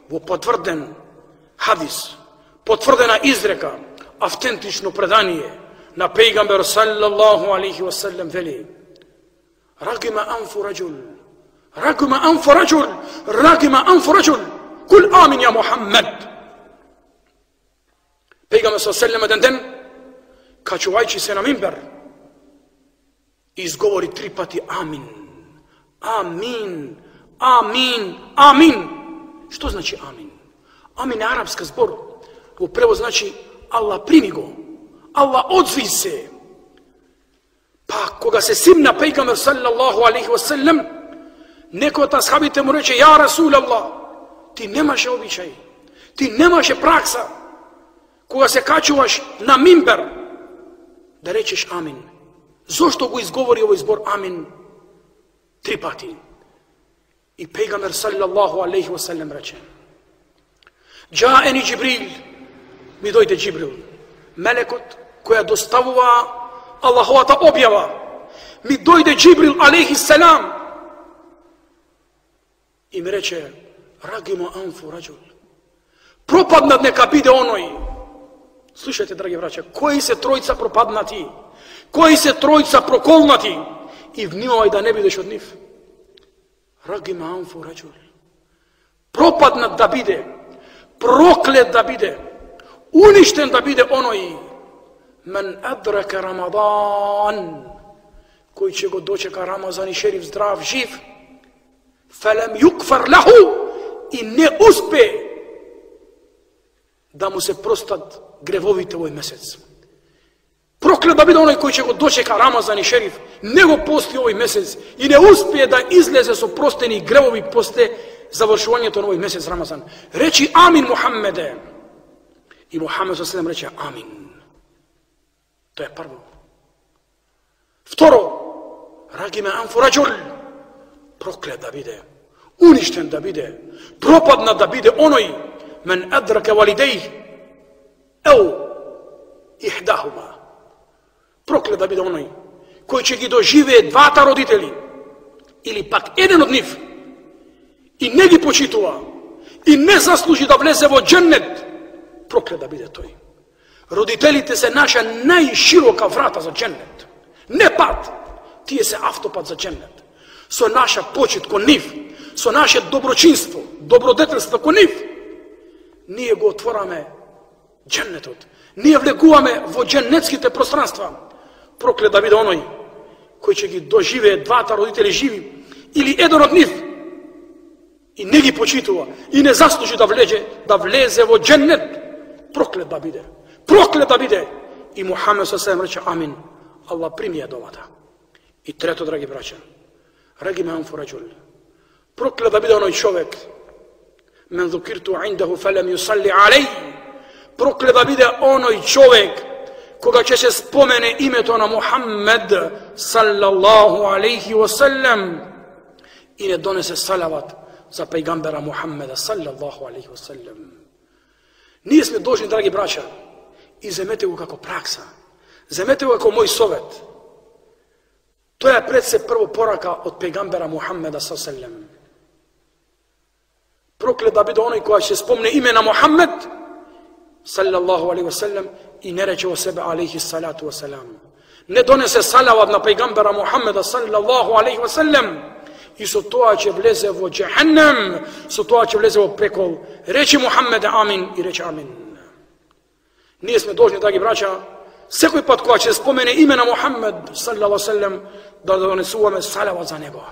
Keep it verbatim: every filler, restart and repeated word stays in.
во потврден хадис, потврдена изрека, автентично предание на пејгамбер саллаллаху алейхи ва саллем вели: рагима анфу раджул, рагима анфу раджул, рагима анфу раджул, кул амин ја Мухаммед. Пејгамбер саллаллаху алейхи ва саллем еден ден, качувајќи се на мимбер, изговори три пати амин. Амин, амин, амин. Што значи амин? Амин е арапска збор. Во превод значи Аллах прими го, Аллах одзви се. Па кога се симна пејгамбер саллаллаху алейхи ва саллем, некој од асхабите му рече: ја Расул Аллах, ти немаше обичај, ти немаше пракса кога се качуваш на мимбер да речеш амин. Зошто го изговори овој збор амин три пати? И пејгамбер саллаллаху алейхи ва саллем рече: Джаени Джибрил, ми дојде Джибрил, мелекот која доставува Аллаховата објава. Ми дојде Джибрил алейхи салам и ми рече: рагима анфу раджул, пропаднат нека биде оној. Слушајте, драги браќа, кои се тројца пропаднати, кои се тројца проколнати, и внимавај да не бидеш од нив. Рагима анфу раджул, пропаднат да биде, проклет да биде, уништен да биде оној мен адрака Рамадан, кој ќе го дочека Рамазан и шериф здрав, жив, фелем юкфар лаху, и не успе да му се простат гревовите овој месец. Проклет да биде оној кој ќе го дочека Рамазан и шериф, не го пости овој месец и не успее да излезе со простени гревови после завршувањето на овој месец Рамазан. Речи амин Мухаммеде. И Мухаммед саллаллаху алейхи ва саллем рече амин. Тоа е прво. Второ, рагиме анфу раджул, проклет да биде, уништен да биде, пропадна да биде оној мен адрака валидеј еу ихдахума. Проклет да биде оној кој ќе ги доживее двата родители или пак еден од нив и не ги почитува и не заслужи да влезе во џеннет. Проклет да биде тој. Родителите се наша најширока врата за џеннет. Не пат, тие се автопат за џеннет. Со наша почит кон нив, со наше доброчинство, добродетелство кон нив, ние го отвораме џеннетот. Ние влегуваме во џеннетските пространства. Проклет да биде оној кој ќе ги доживее двата родители живи или еден од нив и не ги почитува и не заслужи да влезе, да влезе во џеннет. Проклет да биде. Проклет да биде. И Мухаммед саллаллаху алейхи ва саллем рече амин. Аллах прими ја довата. И трето, драги браќа, рагиме анфу раджул, проклет да биде оној човек мен зукирту индаху фелем юсалли алей, проклет да биде оној човек кога ќе се спомене името на Мухаммед саллаллаху алейхи ва саллем и не донесе салават за пејгамбера Мухаммеда саллаллаху алейхи ва саллем. Ние сме должни, драги браќа, и земете го како пракса, земете го како мој совет. Тоа е пред се прво порака од пејгамбера Мухаммеда саллаллаху алейхи ва саллем. Проклет да биде оној кој ќе спомне име на Мухаммед саллаллаху алейхи ва саллем и не рече во себе алейхи салату ва салам. Не донесе салават на пејгамбера Мухаммеда саллаллаху алейхи ва саллем и со тоа ќе влезе во џехеннем, со тоа ќе влезе во пекол. Речи Мухаммеде амин и рече амин. Ние сме должни, драги браќа, секој пат кога ќе спомене име на Мухаммед саллаллаху алейхи ва саллем да донесуваме салават за него.